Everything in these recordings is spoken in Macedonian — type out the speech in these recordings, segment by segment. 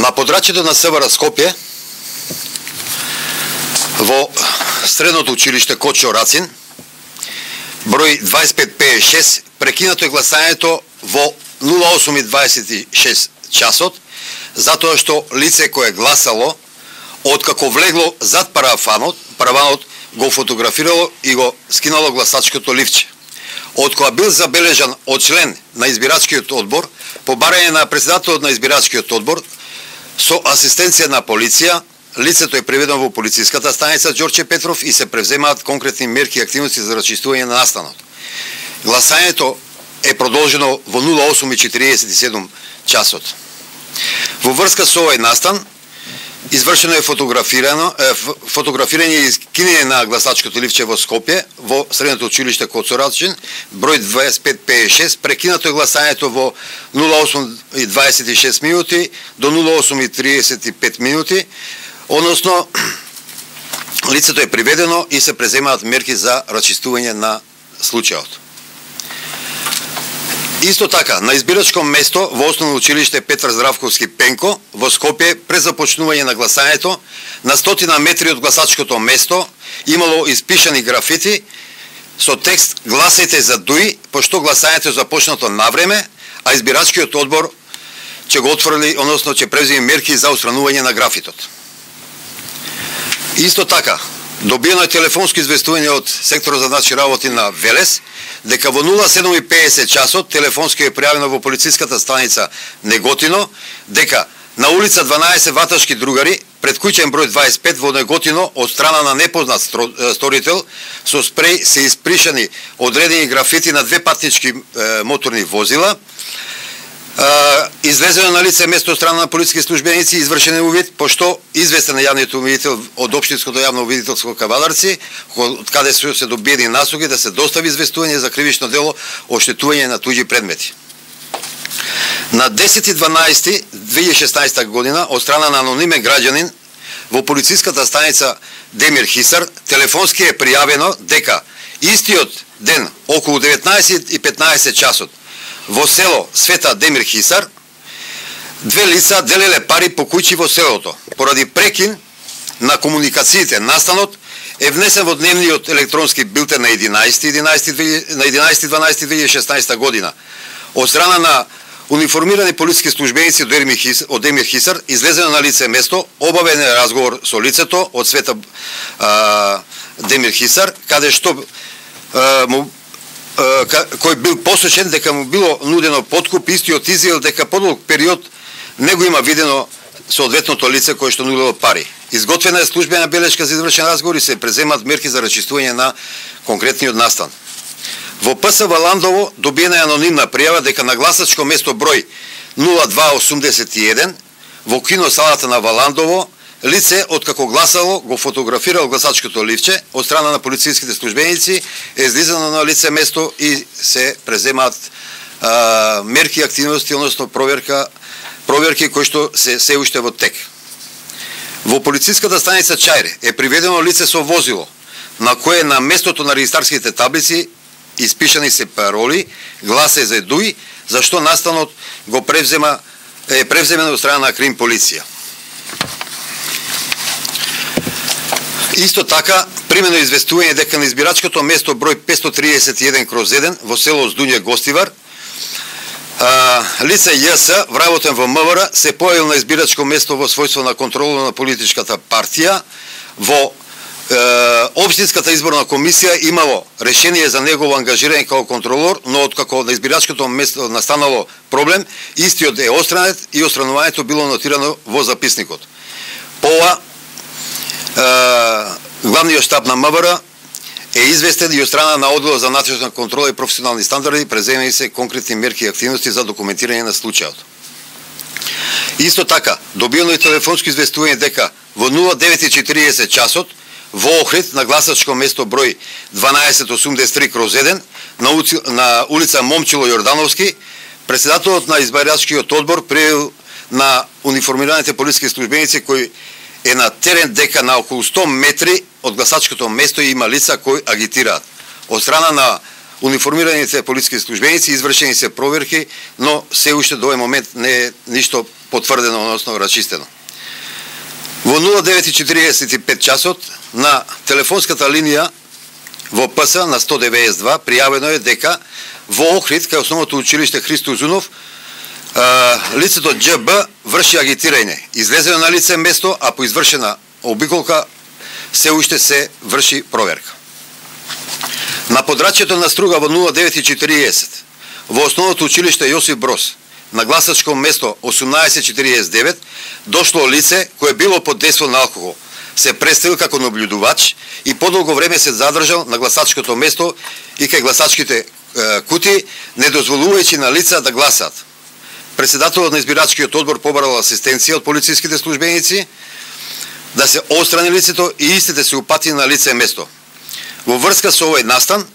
На подрачјето на СВР Скопје, во средното училиште Кочо Рацин, број 2556, прекинато е гласањето во 08:26 часот, затоа што лице кое гласало, откако влегло зад параванот го фотографирало и го скинало гласачкото ливче. Откога бил забележан од член на избирачкиот одбор, по барање на председателот на избирачкиот одбор, со асистенција на полиција, лицето е приведено во полициската станица Ѓорче Петров и се превземаат конкретни мерки и активности за рачистување на настанот. Гласањето е продолжено во 08:47 часот. Во врска со овој настан, извршено е фотографирање и скинење на гласачкото ливче во Скопје, во средното училиште Кочо Рацин, број 2556, прекинато е гласањето во 08:26 минути до 08:35 минути, односно лицето е приведено и се преземаат мерки за рачистување на случајот. Исто така, на избирачко место во Основно училиште Петар Здравковски Пенко во Скопје, пред започнување на гласањето, на 100 метри од гласачкото место имало испишани графити со текст "Гласајте за Дуи", пошто гласањето е започнато на време, а избирачкиот одбор ќе го отфрли, односно ќе преземе мерки за отстранување на графитот. Исто така, добиено е телефонско известување од секторот за наши работи на Велес, дека во 07:50 часот телефонски е пријавено во полициската станица Неготино, дека на улица 12 Ваташки другари, пред куќен број 25 во Неготино, од страна на непознат сторител, со спреј се испришани одредени графити на две патнички моторни возила, излезено на лице место од страна на полициски службеници, извршен е увид, пошто известен на јавниот увидител од Општинското јавно увидителство Кавадарци, од каде се добиени насоки да се достави известување за кривично дело оштетување на туѓи предмети. На 10.12.2016 година, од страна на анонимен граѓанин, во полициската станица Демир Хисар, телефонски е пријавено дека истиот ден, околу 19:15 часот, во село Света Демир Хисар, две лица делеле пари по куќи во селото. Поради прекин на комуникациите, настанот е внесен во дневниот електронски билтен на 11.12.2016 година. Од страна на униформирани полициски службеници од Демир Хисар, излезено на лице место, обавен е разговор со лицето од Света Демир Хисар, каде што кој бил посочен дека му било нудено подкуп, истиот изјавил дека подолг период не го има видено соодветното лице кое што нудило пари. Изготвена е службена белешка за извршен разговор и се преземат мерки за рачистување на конкретниот настан. Во ПС Валандово добиена е анонимна пријава дека на гласачко место број 0281 во киносалата на Валандово лице, откако гласало, го фотографирало гласачкото ливче, од страна на полициските службеници, е излизано на лице место и се преземаат мерки и активности, односно проверки кои што се уште во тек. Во полициската станица Чајре е приведено лице со возило, на кое на местото на регистарските таблици испишани се пароли "Гласај за Дуи", зашто настанот го превземен од страна на Крим полиција. Исто така, примено известување дека на избирачкото место број 531/1 во село Здуње Гостивар, лице ЈС, вработен во МВР, се појавил на избирачко место во својство на контрола на политичката партија. Во Општинската изборна комисија имало решение за негово ангажирање како контролор, но откако на избирачкото место настанало проблем, истиот е отстранет и отстранувањето било нотирано во записникот. По ова, главниот штаб на МВР е известен и од страна на одделот за натрешна контрола и професионални стандарди, преземени се конкретни мерки и активности за документирање на случајот. Исто така, добиено е телефонско известување дека во 09:40 часот во Охрид на гласачко место број 1283/1 на улица Момчило Јордановски, председателот на избирачкиот одбор пријавил на униформираните полициски службеници кои е на терен дека на околу 100 метри од гласачкото место има лица кои агитираат. Од страна на униформираните полициски службеници извршени се проверки, но се уште до овој момент не е ништо потврдено, односно расчистено. Во 09:45 часот на телефонската линија во ПС на 192 пријавено е дека во Охрид, кај основното училиште Христо Узунов, лицето ДЖБ врши агитирање. Излезено на лице место, а по извршена обиколка се уште се врши проверка. На подрачјето на Струга во 09:40 во основното училиште Јосиф Брос на гласачко место 18:49 дошло лице кое било под дејство на алкохол. Се представил како наблюдувач и подолго време се задржал на гласачкото место и кај гласачките кути, не дозволувајќи на лица да гласат. Председателот на избирачкиот одбор побарал асистенција од полициските службеници да се отстрани лицето и истите се упати на лице место. Во врска со овој настан,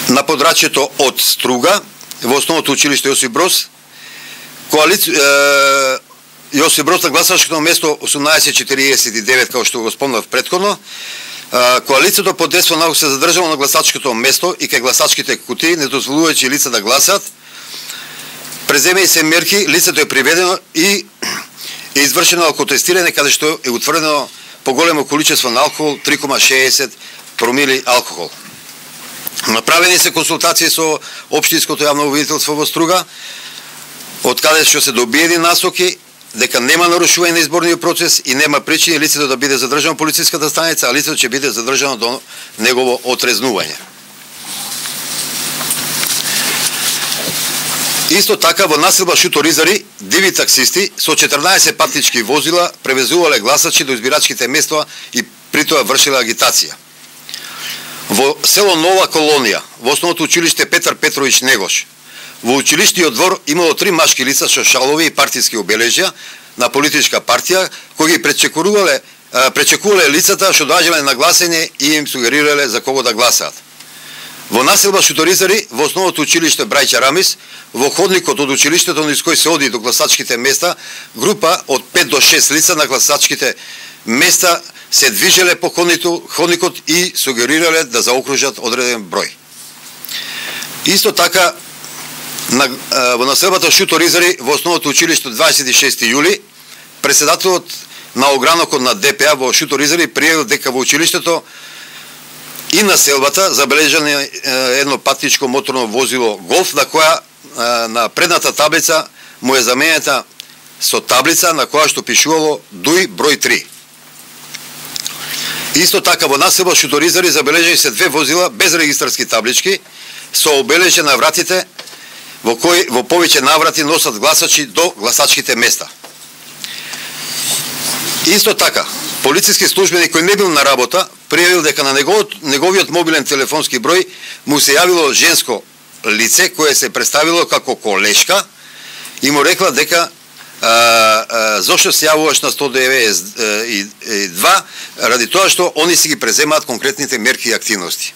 на подрачјето од Струга, во основното училиште Јосиф Брос, Јосиф Брос на гласачкото место 18:49, како што го спомнав претходно, коалицијата под дејство на се задржала на гласачкото место и кај гласачките кутии, не дозволувајќи лица да гласат. Преземени се мерки, лицето е приведено и е извршено алкотестирање, каде што е утврдено поголемо количество на алкохол, 3,60 промили алкохол. Направени се консултации со општинското јавно обвинителство во Струга, од каде што се добиени насоки дека нема нарушување на изборниот процес и нема причини лицето да биде задржано во полициската станица, а лицето ќе биде задржано до негово отрезнување. Исто така во населба Шуторизари, диви таксисти со 14 патнички возила превезувале гласачи до избирачките места и притоа вршиле агитација. Во село Нова Колонија, во основното училиште Петар Петрович Негош, во училиштиот двор имало 3 машки лица со шалови и партиски обележја на политичка партија, кои ги пречекувале лицата што доаѓале на гласење и им сугерирале за кого да гласаат. Во населба Шуторизари, во основното училиште Брајча Рамис, во ходникот од училиштето низ кој се оди до гласачките места, група од 5 до 6 лица на гласачките места се движеле по ходникот и сугерирале да заокружат одреден број. Исто така, во населбата Шуторизари, во основното училиште 26 јули, председателот на огранокот на ДПА во Шуторизари пријавил дека во училиштето и населбата забележано едно патничко моторно возило Голф, на која на предната таблица му е заменета со таблица на која што пишувало ДУИ број 3. Исто така во населба Шуторизари забележани се 2 возила без регистарски таблички со обележје на вратите во кои во повеќе наврати носат гласачи до гласачките места. Исто така, полициски службеник кој не бил на работа пријавил дека на неговиот мобилен телефонски број му се јавило женско лице кое се представило како колешка и му рекла дека зошто се јавуваш на 192 ради тоа што они си ги преземаат конкретните мерки и активности.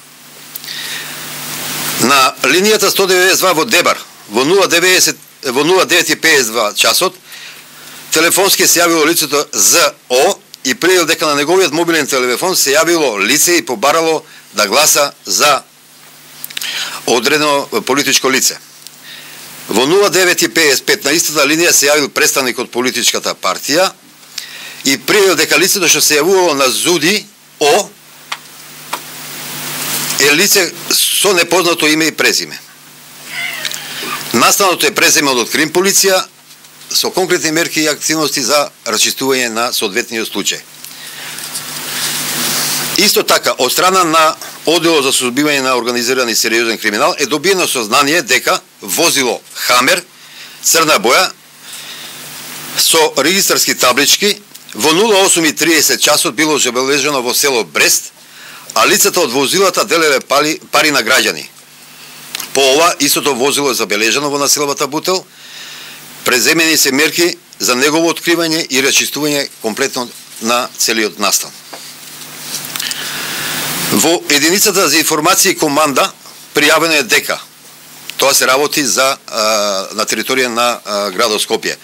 На линијата 192 во Дебар во 09:52 часот телефонски се јавило лицето ЗО и пријавил дека на неговиот мобилен телефон се јавило лице и побарало да гласа за одредено политичко лице. Во 09:55 на истата линија се јавил представник од политичката партија и пријавил дека лицето што се јавувало на ЗУДИ О е лице со непознато име и презиме. Настаното е преземено од Крим полиција со конкретни мерки и активности за расчистување на соодветниот случај. Исто така, од страна на Оделот за сузбивање на организиран и сериозен криминал е добиено сознание дека возило Хамер, црна боја, со регистарски таблички, во 08:30 часот било забележано во село Брест, а лицата од возилата делеле пари на граѓани. По ова, истото возило е забележано во населбата Бутел, преземени се мерки за негово откривање и расчистување комплетно на целиот настан. Во единицата за информација и команда пријавено е дека тоа се работи на територија на градот Скопје.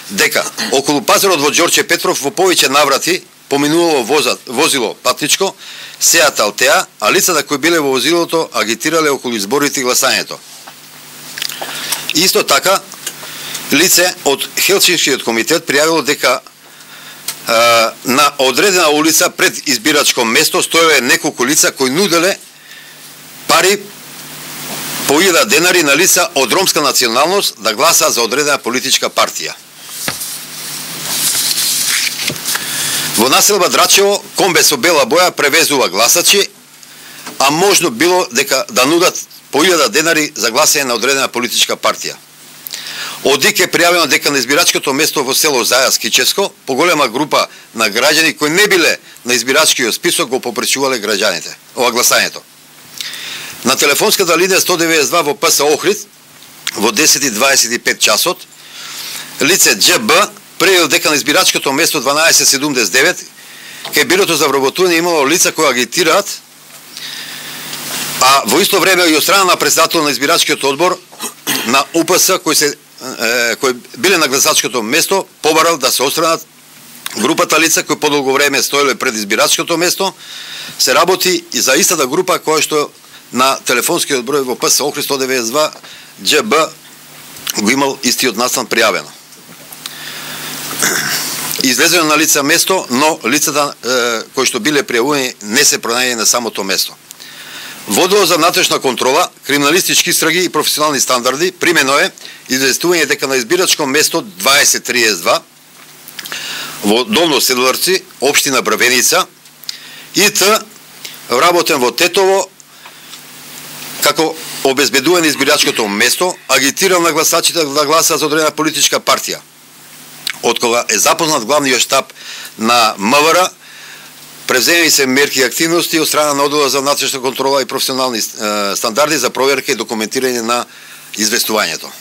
Дека околу пазарот во Ѓорче Петров во повеќе наврати поминувало возило патничко Сеат Алтеа, а лицата кои биле во возилото агитирале околу изборите и гласањето. Исто така лице од Хелсинскиот комитет пријавило дека на одредена улица пред избирачко место стоеле неколку лица кои нуделе пари по 1000 денари на лица од ромска националност да гласаат за одредена политичка партија. Во населба Драчево комбе со бела боја превезува гласачи, а можно било дека да нудат по 1000 денари за гласање на одредена политичка партија. Од ДИК е пријавено дека на избирачкото место во село Зајас Кичевско поголема група на граѓани кои не биле на избирачкиот список го попречувале граѓаните ова гласањето. На телефонската линија 192 во ПС Охрид во 10:25 часот лице ДЖБ прејавил дека на избирачкото место 1279 кај бирото за вработување имало лица кои агитираат, а во исто време и од страна на председател на избирачкиот одбор на УПС кои биле на гласачкото место побарал да се отстранат групата лица кои подолго време стоеле пред избирачкото место. Се работи и за истата група која што на телефонскиот број во ПС Охрид 192 ДЖБ го имал истиот настан пријавено. Излезено на лица место, но лицата кои што биле пријавувани не се пронајдени на самото место. Во одделот за внатрешна контрола, криминалистички истраги и професионални стандарди примено е известување дека на избирачко место 2032 во Долно Седларци, општина Брвеница, ИТ вработен во Тетово како обезбедување на избирачкото место, агитирал на гласачите да гласаат за одредена политичка партија. Од кога е запознат главниот штаб на МВР, превземени се мерки и активности од страна на одделот за внатрешна контрола и професионални стандарди за проверка и документирање на известувањето.